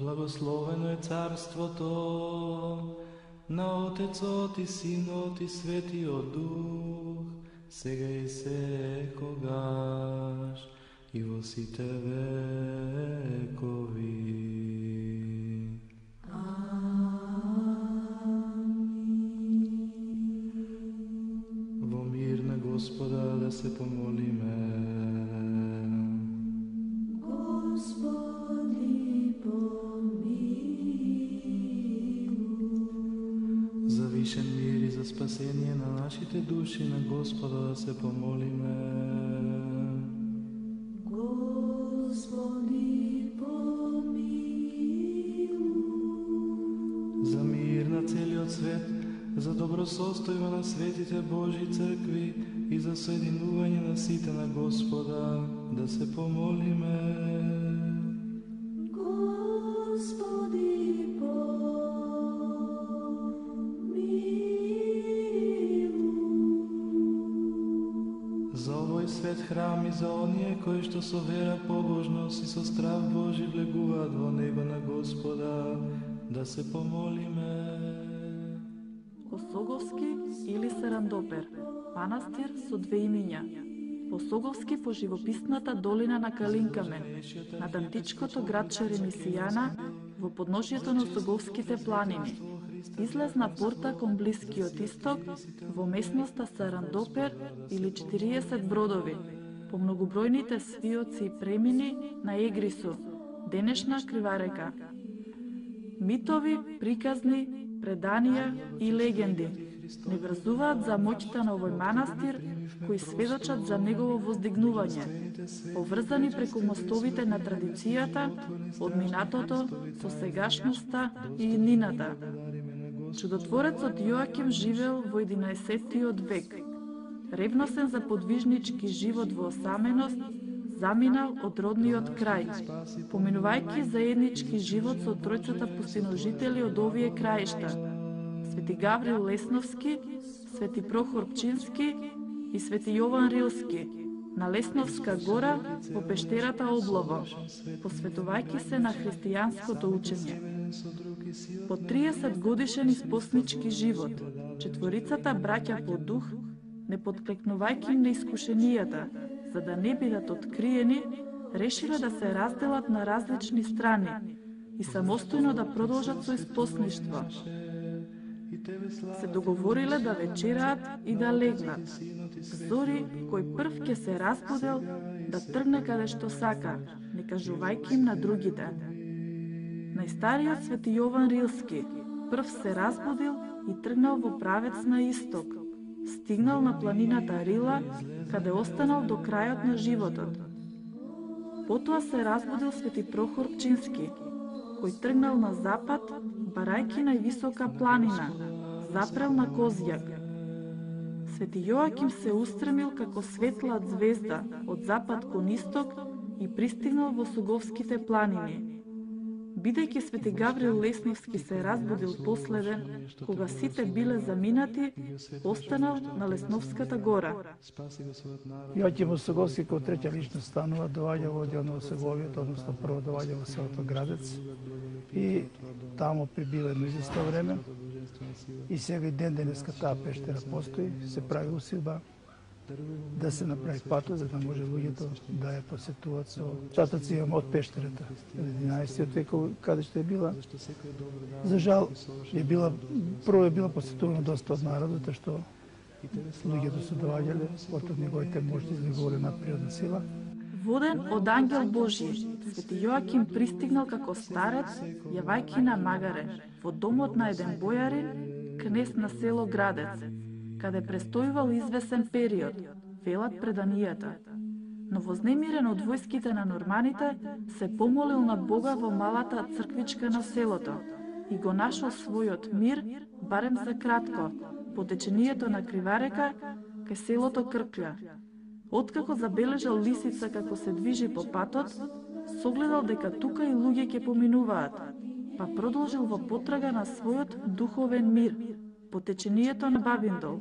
Благословено е царството на Отецот и Синот и Светиот Дух, сега и секогаш и во сите векови. Амин. Во мир на Господа да се помолиме. Господи, помилуј. За вишен мир и за спасение на нашите души на Господа да се помолиме. Господи, помилуј. За мир на целиот свет, за добросостојба на светите Божји цркви и за соединување на сите на Господа да се помолиме. Господи, помилуј. За овој свет храм и за оние кои што со вера, побожност и со страв Божи влегуваат во него на Господа да се помолиме. Осоговски или Сарандопер, манастир со две имиња. Осоговски по живописната долина на Калинкамен, над античкото градче Ремисијана, во подножјето на Осоговските планини. Излезна порта кон Блискиот Исток, во местноста Сарандопер или 40 бродови, по многобројните свиоци и премини на Егрису, денешна Криварека. Митови, приказни, преданија и легенди не врзуваат за моќта на овој манастир, кои сведочат за негово воздигнување, поврзани преку мостовите на традицијата, од минатото со сегашноста и иднината. Чудотворецот Јоаким живеел во 11 век. Ревносен за подвижнички живот во осаменост, заминал од родниот крај, поминувајќи заеднички живот со тројцата пустиножители од овие краишта: Свети Гаврил Лесновски, Свети Прохор Пчински и Свети Јован Рилски, на Лесновска гора во пештерата Облово, посветувајќи се на христијанското учење. По 30 годишен испоснички живот, четворицата браќа по дух, не подклекнувајќи на искушенијата, за да не бидат откриени, решиле да се разделат на различни страни и самостојно да продолжат со испосништво. Се договориле да вечераат и да легнат. Зори, кој прв ќе се разбудел, да тргне каде што сака, не кажувајќи им на другите. Најстариот Свети Јован Рилски прв се разбудил и тргнал во правец на исток. Стигнал на планината Рила, каде останал до крајот на животот. Потоа се разбудил Свети Прохор Пчински, кој тргнал на запад, барајќи највисока планина, запрел на Козјак. Свети Јоаким се устремил како светла звезда од запад кон исток и пристигнал во Суговските планини. Бидејќи Свети Гаврил Лесновски се разбудил последен, кога сите биле заминати, останал на Лесновската гора. Јоаким Осоговски како треќа личност станува, доаѓа во одел на Осоговиот, односно прво доаѓа во селото Градец и таму прибива едно известно време. И сега и ден денеска таа пештера постои, се прави усилба да се направи патот, за да може луѓето да ја посетуваат со татоци имам од пештерата. 11 век каде што е била. За жал прво е била посетувана доста од народот, што луѓето се доаѓале, од неговите можности за неговата надприродна сила. Воден од ангел Божји, Свети Јоаким пристигнал како старец, јавајќи на Магаре, во домот на еден бојарин, кнез на село Градец, каде престојувал извесен период, велат преданијата. Но вознемирен од војските на норманите, се помолил на Бога во малата црквичка на селото и го нашол својот мир, барем за кратко, по течението на Криварека, кај селото Крклја. Откако забележал лисица како се движи по патот, согледал дека тука и луѓе ќе поминуваат, па продолжил во потрага на својот духовен мир, по течението на Бабиндол.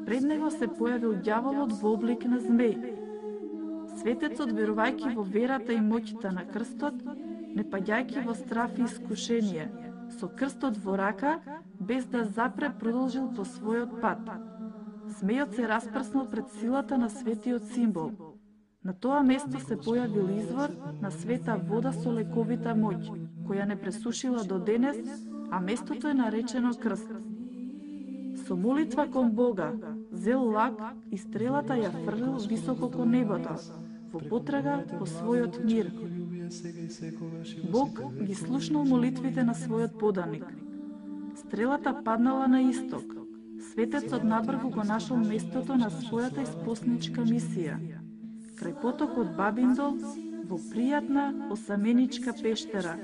Пред него се појавил ѓаволот во облик на змеј. Светецот, верувајќи во верата и моќта на крстот, не паѓајќи во страф и искушение, со крстот во рака, без да запре продолжил по својот пат. Змејот се распрснал пред силата на светиот символ. На тоа место се појавил извор на света вода со лековита моќ, која не пресушила до денес, а местото е наречено крст. Со молитва кон Бога, зел лак и стрелата ја фрлил високо кон небото, во потрага по својот мир. Бог ги слушнал молитвите на својот поданик. Стрелата паднала на исток. Светецот надврву го нашол местото на својата испосничка мисија. Крај потокот Бабиндол, во пријатна осаменичка пештера,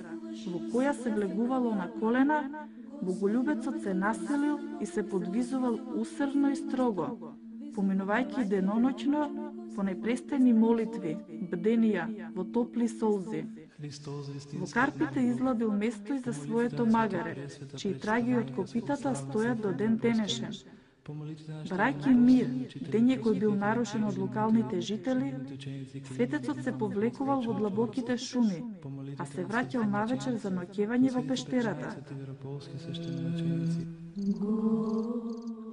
во која се влегувало на колена, боголюбецот се населил и се подвизувал усрдно и строго, поминувајќи деноноќно во непрестани молитви, бденија, во топли солзи. Во Карпите излабил место и за своето магаре, чии траги од копитата стојат до ден денешен. Барајќи мир, дење кој бил нарушен од локалните жители, светецот се повлекувал во длабоките шуми, а се враќал навечер за ноќевање во пештерата.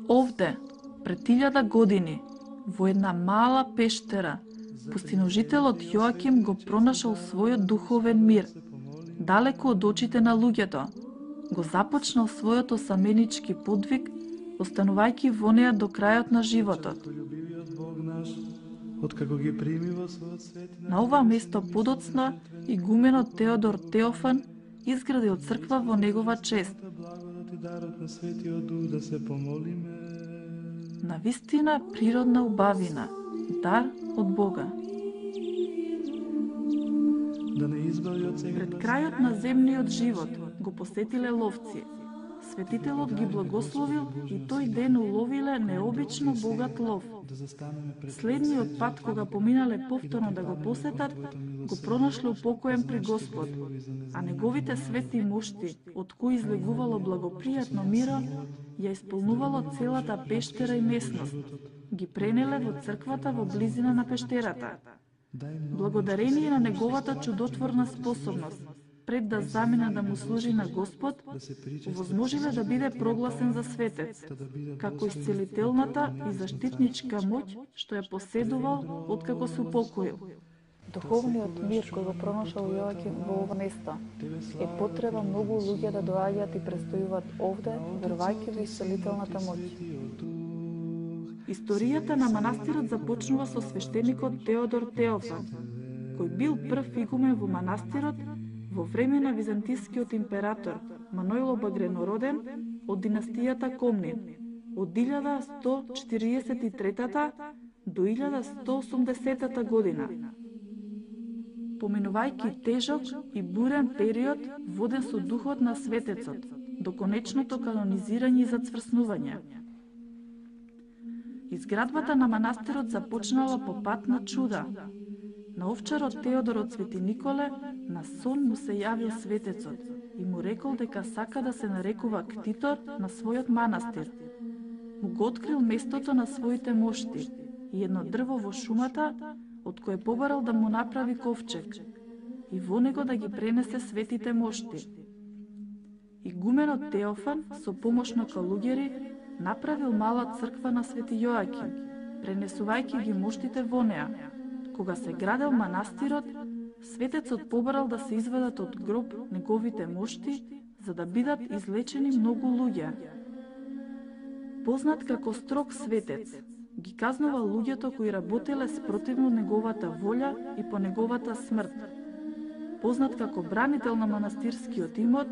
Овде, пред 1000 години, во една мала пештера, пустиножителот Јоаким го пронашал својот духовен мир, далеко од очите на луѓето. Го започнал својот осаменички подвиг, останувајќи во неа до крајот на животот. На ова место подоцна игуменот Теодор Теофан изградил црква во негова чест. Навистина природна убавина, дар од Бога. Пред крајот на земниот живот го посетиле ловци. Светителот ги благословил и тој ден уловиле необично богат лов. Следниот пат, кога поминале повторно да го посетат, го пронашле упокоен при Господ, а неговите свети мушти, од кои излегувало благопријатно миро, ја исполнувало целата пештера и местност. Ги пренеле во црквата во близина на пештерата. Благодарение на неговата чудотворна способност, пред да замине да му служи на Господ, возможиле да биде прогласен за светец, како исцелителната и заштитничка моќ што ја поседувал откако се упокоил. Духовниот мир кој го пронашал Јоаким во ова место е потреба многу луѓе да доаѓаат и престојуваат овде, верувајќи во исцелителната моќ. Историјата на манастирот започнува со свештеникот Теодор Теофан, кој бил прв игумен во манастирот во време на византискиот император Маноило Багренороден од династијата Комнин од 1143 до 1180 година. Поминувајќи тежок и бурен период воден со духот на светецот до конечното канонизирање и зацврснување. Изградбата на манастирот започнала по пат на чуда. На овчарот Теодор од Свети Николе на сон му се јавил светецот и му рекол дека сака да се нарекува ктитор на својот манастир. Му го открил местото на своите мошти и едно дрво во шумата, од кое побарал да му направи ковчег и во него да ги пренесе светите мошти. Игуменот Теофан со помош на калуѓери направил мала црква на Свети Јоаким, пренесувајќи ги моштите во неа. Кога се градел манастирот, светецот побарал да се изведат од гроб неговите мошти, за да бидат излечени многу луѓе. Познат како строг светец, ги казнува луѓето кои работеле спротивно неговата волја и по неговата смрт. Познат како бранител на манастирскиот имот,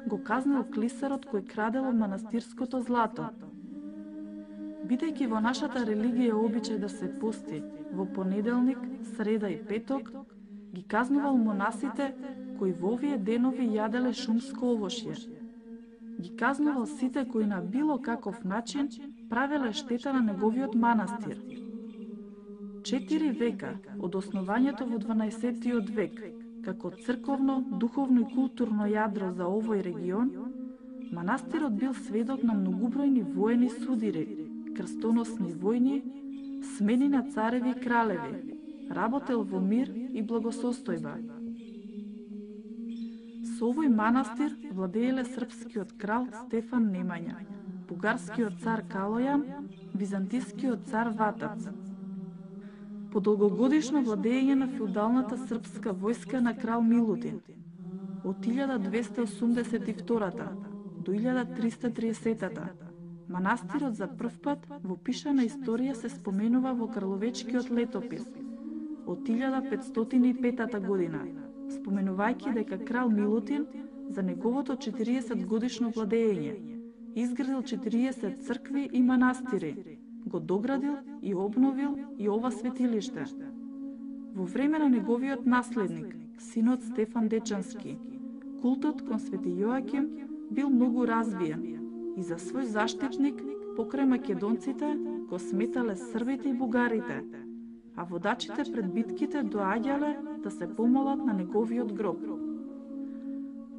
го казнил клисарот кој крадело манастирското злато. Бидејќи во нашата религија обичај да се пости во понеделник, среда и петок, ги казнувал монасите кои во овие денови јаделе шумско овошје. Ги казнувал сите кои на било каков начин правеле штета на неговиот манастир. 4 века од основањето во 12 век, како црковно, духовно и културно јадро за овој регион, манастирот бил сведок на многубројни воени судири, крстоносни војни, смени на цареви и кралеви, работел во мир и благосостојба. Со овој манастир владееле српскиот крал Стефан Немања, бугарскиот цар Калојан, византискиот цар Ватац. По долгогодишно владење на феудалната српска војска на крал Милутин, од 1282 до 1330 манастирот за прв пат во пишана историја се споменува во Карловечкиот летопис од 1505 година, споменувајќи дека крал Милутин за неговото 40 годишно владење изградил 40 цркви и манастири, го доградил и обновил и ова светилиште. Во време на неговиот наследник, синот Стефан Дечански, култот кон Свети Јоаким бил многу развиен и за свој заштитник покрај македонците го сметале србите и бугарите, а водачите пред битките доаѓале да се помолат на неговиот гроб.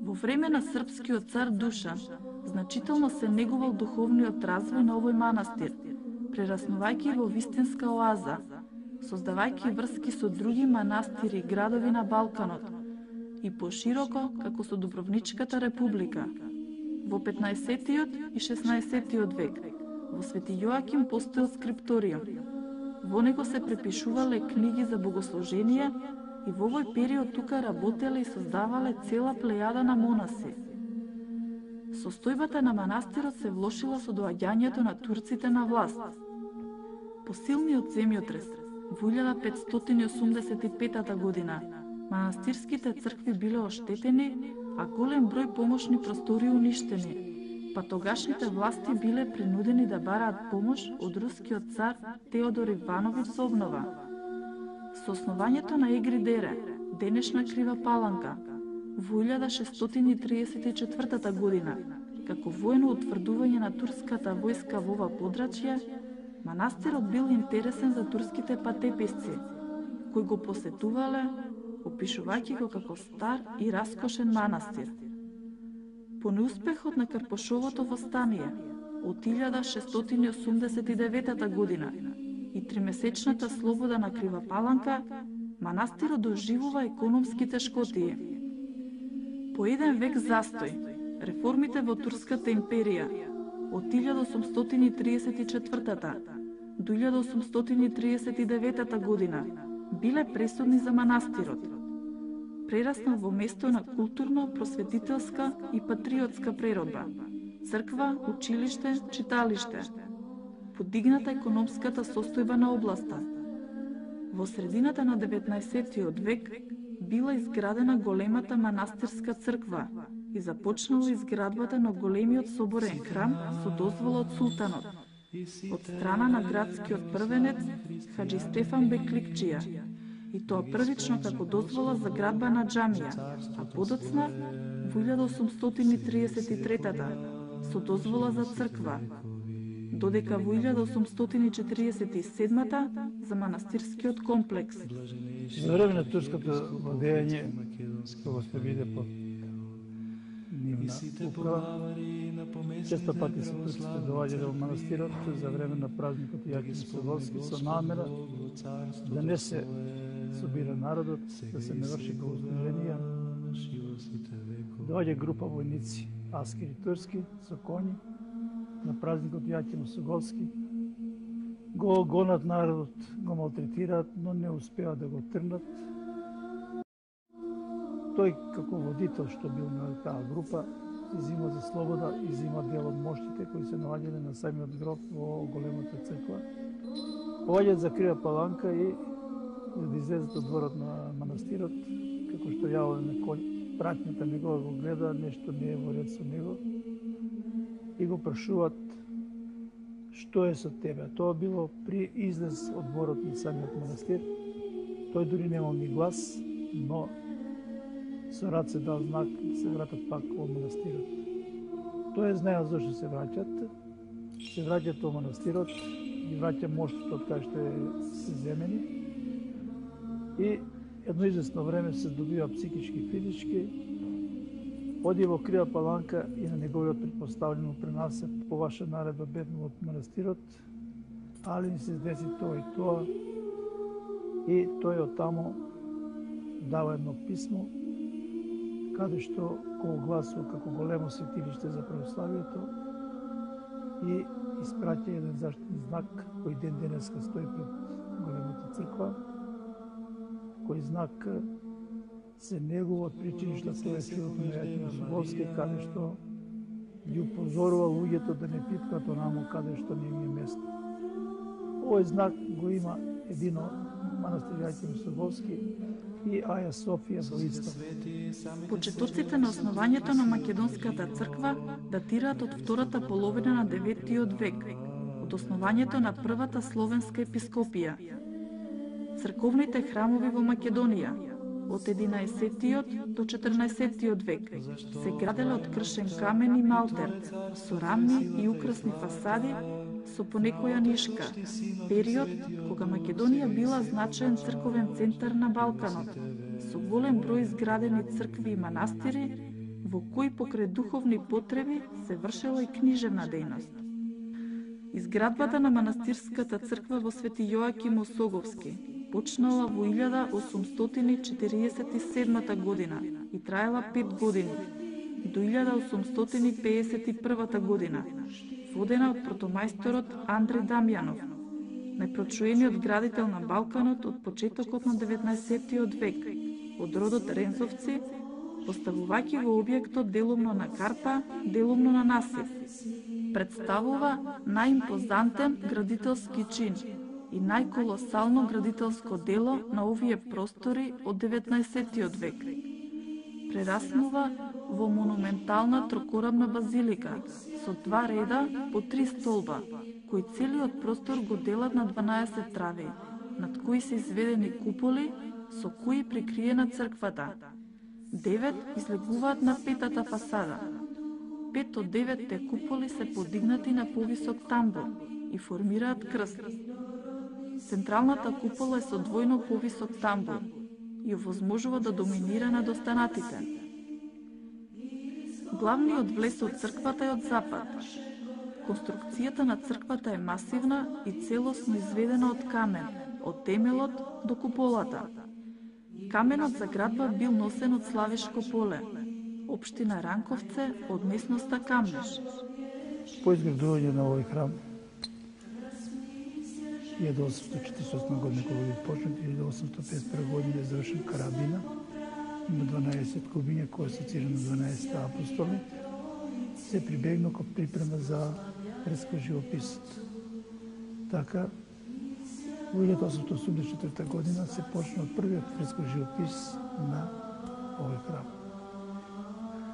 Во време на српскиот цар Душан, значително се негувал духовниот развој на овој манастир, прераснувајќи во вистинска оаза, создавајќи врски со други манастири и градови на Балканот и пошироко како со Дубровничката република. Во 15-тиот и 16-тиот век во Свети Јоаким постоел скрипториум. Во него се препишувале книги за богослужение и во овој период тука работеле и создавале цела плејада на монаси. Состојбата на манастирот се влошила со доаѓањето на турците на власт. По силниот земјотрес во 1585 година манастирските цркви биле оштетени, а голем број помошни простори уништени, па тогашните власти биле принудени да бараат помош од рускиот цар Теодор Ивановиќ за обнова. Со основањето на Егридере, денешна Крива Паланка, во 1634 година, како воено утврдување на турската војска во ова подрачје, манастирот бил интересен за турските патеписци, кои го посетувале, опишувајќи го како стар и раскошен манастир. По неуспехот на Карпошовото востание од 1689 година и тримесечната слобода на Крива Паланка, манастирот доживува економски тешкотии. По еден век застој, реформите во Турската империја од 1834 до 1839 година биле пресудни за манастирот. Прераснал во место на културно, просветителска и патриотска преродба, црква, училиште, читалиште. Подигната економската состојба на областа. Во средината на 19 век била изградена големата манастирска црква и започнала изградбата на големиот соборен храм со дозвола од султанот, од страна на градскиот првенец Хаджи Стефан Бекликчија, и тоа првично како дозвола за градба на џамија, а подоцна во 1833 со дозвола за црква, додека во 1847 за манастирскиот комплекс. За време на турското владење, кога се биде под нивна управа, често пати се турците доаѓале во манастирот за време на празникот Јаким Соголски со намера да не се собира народот, да се не врши богослуженија. Доаѓа група војници, аскери турски, со коњи, на празникот Јаким Соголски, го гонат народот, го малтретираат, но не успеа да го трнат. Тој како водител што бил на таа група, изима за слобода, изима дел од моштите кои се наоѓале на самиот гроб во големата црква. Поаѓаат за Крива Паланка и за да излезат од дворот на манастирот, како што јаволе на кој, пратњата негова го гледа, нешто не е во ред со него и го прашуваат што е со тебе. Тоа било при излез од дворот на самиот манастир. Тој дури немал ни глас, но со раце дал знак да се вратат пак во манастирот. Тој знаел зашто се враќат. Се враќат во манастирот, ги враќа моштото од кај што е се земени и едно известно време се добива психички и физички. Оди во Крива Паланка и на неговиот предпоставljeno пренася по ваша наредба бегнал од манастирот, али ми се деси тоа и тоа. И тој од тамо дава едно писмо каде што го огласува како големо светилиште за православието и испраќа еден заштитен знак кој ден денеска стои пред големата црква, кој знак се негува од причиништа тоа е чудото на Јоаким Осоговски, каде што ги упозорува луѓето да не пипкат онамо каде што не им е место. Овој знак го има едино манастир Јоаким Осоговски и Аја Софија во Исток. Почетоците на основањето на Македонската црква датираат од втората половина на 9 век, од основањето на првата словенска епископија. Црковните храмови во Македонија од 11 до 14 век се граделе од кршен камен и малтер, со рамни и украсни фасади, со понекоја нишка, период кога Македонија била значаен црковен центар на Балканот, со голем број изградени цркви и манастири, во кои покрај духовни потреби се вршела и книжевна дејност. Изградбата на манастирската црква во Свети Јоаким Осоговски почнала во 1847 година и траела 5 години, до 1851 година, водена од протомајсторот Андре Дамјанов, најпрочуениот градител на Балканот од почетокот на 19 век, од родот Рензовци, поставувајќи го објектот делумно на карпа, делумно на насип. Представува најимпозантен градителски чин и најколосално градителско дело на овие простори од 19 век. Прераснува во монументална трокорамна базилика со 2 реда по 3 столба, кои целиот простор го делат на 12 трави, над кои се изведени куполи со кои прикриена црквата. 9 излегуваат на петата фасада. 5 од 9 куполи се подигнати на повисок тамбур и формираат крст. Централната купола е со двојно повисок тамбур и овозможува да доминира над останатите. Главниот влез од црквата е од запад. Конструкцијата на црквата е масивна и целосно изведена од камен, од темелот до куполата. Каменот за градба бил носен од Славешко поле, општина Ранковце, од местноста Камнеш. По изградување на овој храм 1848 година кога би почнат, 1851 година е завршен карабина. Има 12 кубиња кои се цирани на 12 апостоли. Се прибегна кон припрема за фреска живописот. Така, во 1884 година се почна од првиот фреско живопис на овој храм.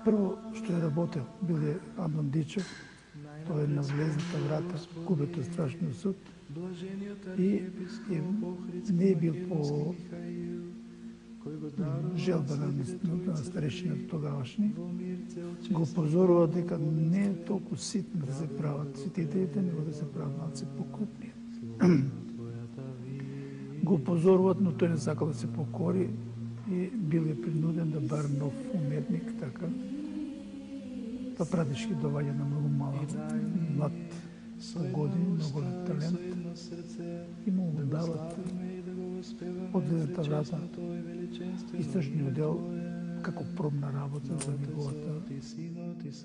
Прво што е работел бил е Антон Дичев, тој е на влезната врата, кубето страшниот суд, и не е бил по желба на старешината тогавашни, го позорува дека не е толку ситно да се прават светителите, него да се прават малце покрупни. Го позоруват, но тој не сакал да се покори и бил е принуден да бар нов уметник, така. Па пратишки доваѓа на многу млад по години, многу талент и му дават од ледната врата истражниот дел како пробна работа за неговата.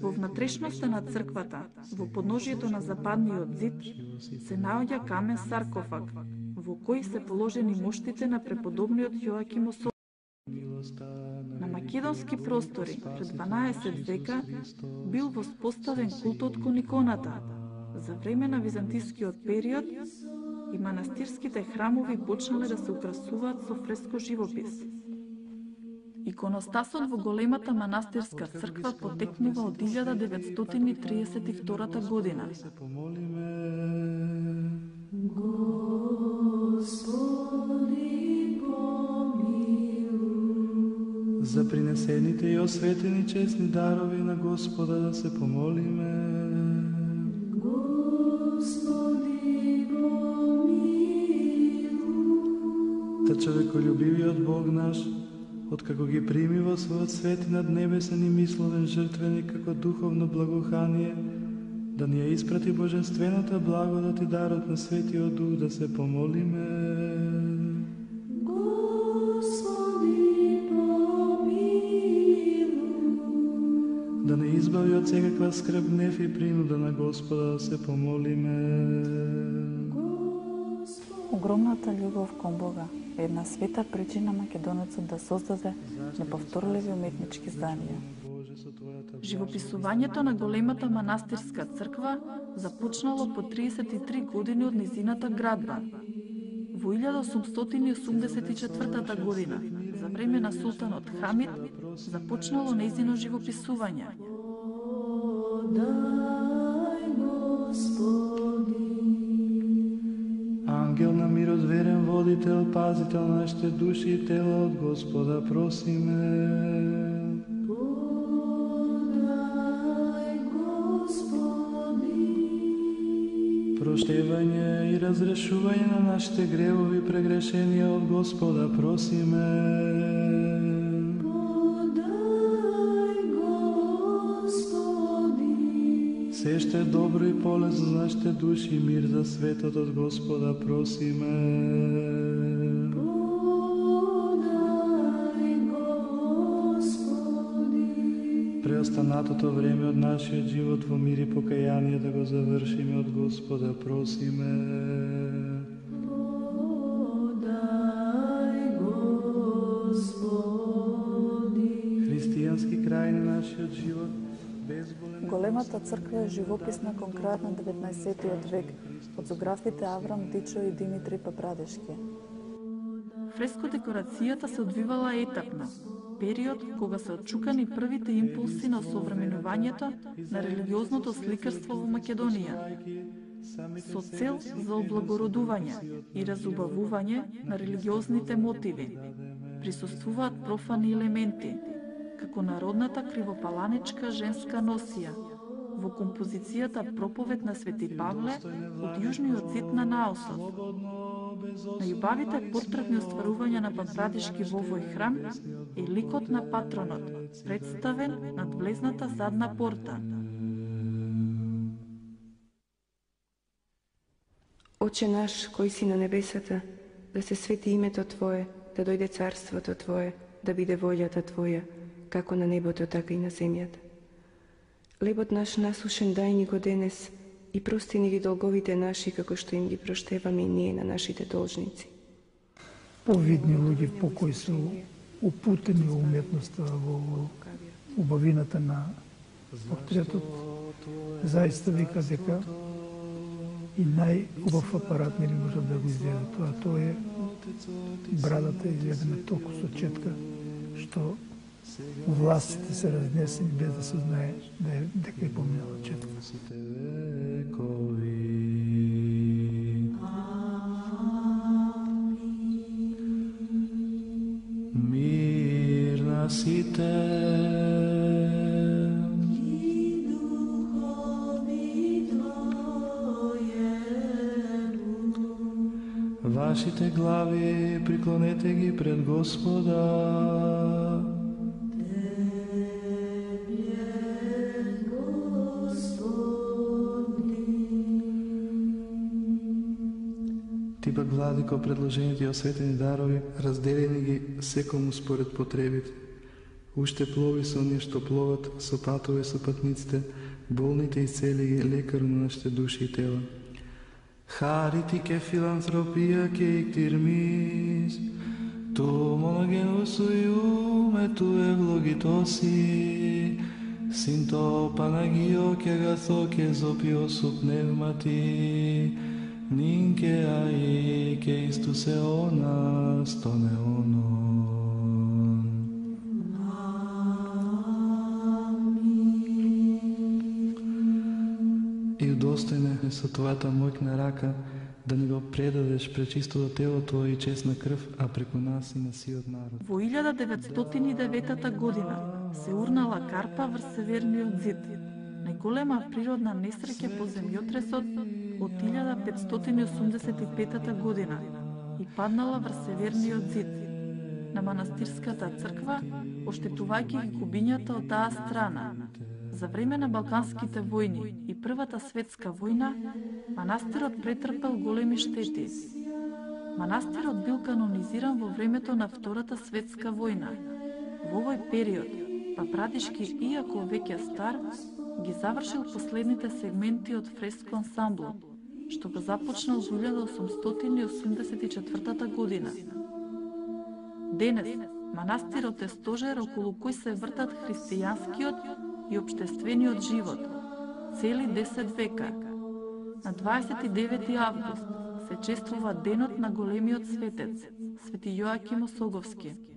Во внатрешноста на црквата, во подножието на западниот зид, се наоѓа камен саркофаг, во кој се положени моштите на преподобниот Јоаким Осоговски. На македонски простори пред 12 века бил воспоставен култот кон иконата. За време на византискиот период и манастирските храмови почнале да се украсуваат со фреско живопис. Иконостасот во големата манастирска црква потекнува од 1932 година. За принесените и осветени честни дарови на Господа да се помолиме. Та човеколюбивиот Бог наш, откако ги прими во својот свети наднебесен и мисловен жртвеник како духовно благоухание, да ни ја испрати божествената благодат и дарот на Светиот Дух да се помолиме. избави од секаква скрб, гнев и принуда на Господа, да се помолиме. Огромната љубов кон Бога е една света причина македонецот да создаде неповторливи уметнички зданија. Живописувањето на големата манастирска црква започнало по 33 години од низината градба. Во 1884 година, за време на султанот Хамид, започнало нејзино живописување. Ангел на мирот, верен водител, пазител на нашите души и тела, од Господа просиме. Проштевање и разрешување на нашите гревови прегрешенија, од Господа просиме. Се што е добро и полезно за нашите души и мир за светот, од Господа просиме. Преостанатото време од нашиот живот во мир и покаяние да го завршиме, од Господа просиме. Христијански крај на нашиот живот. Големата црква е живописна кон крајот на 19 век од зографите Аврам Дичо и Димитри Папрадешки. Фреско-декорацијата се одвивала етапно, период кога се отчукани првите импулси на осовременувањето на религиозното сликарство во Македонија, со цел за облагородување и разубавување на религиозните мотиви. Присуствуваат профани елементи, како народната кривопаланичка женска носија, во композицијата Проповед на Свети Павле од јужниот зид на наосот. Најубавите портретни остварувања на Папрадешки во овој храм е ликот на патронот, представен над влезната задна порта. Оче наш, кој си на небесата, да се свети името Твое, да дојде царството Твое, да биде волјата Твоја, како на небото, така и на земјата. Лебот наш насушен дај ни го денес и прости ни ги долговите наши, како што им ги проштеваме и ние на нашите должници. Повидни луѓе по кои се упутени во уметноста, во убавината на портретот, заиста вика дека и најубав апарат не можат да го изведат. Тоа е брадата изведена толку со четка, што властите се разнесени без да се знае дека е поминала четка. Мир на сите. Вашите глави приклонете ги пред Господа. Ти пак, Владико, предложените и осветени дарови, разделени ги секому според потребите. Уште плови со оние што пловат, со патове со патниците, болните исцели ги, лекару на нашите души и тела. Χαρίτη και φιλανθρωπία και εκτιρμής του μονογενού σου Υιού με του ευλογητώσει συν το Παναγίο και αγαθό και ζωπιό σου πνεύματι νυν και αεί και εις τους αιώνας των αιώνων. И удостојне со твојата моќна рака да ни го предадеш пречистото тело Твое и честна крв, а преку нас и на сиот народ. Во 1909 година се урнала карпа врз северниот зид. Најголема природна несреќа по земјотресот од 1585 година и паднала врз северниот зид на манастирската црква, оштетувајќи ги кубињата од таа страна. За време на Балканските војни и Првата светска војна, манастирот претрпел големи штети. Манастирот бил канонизиран во времето на Втората светска војна. Во овој период Папрадишки, иако веќе стар, ги завршил последните сегменти од фреско ансамбло, што го започнал во 1884 година. Денес, манастирот е стожер околу кој се вртат христијанскиот и општествениот живот, цели 10 века. На 29 август се чествува денот на големиот светец, Свети Јоаким Осоговски.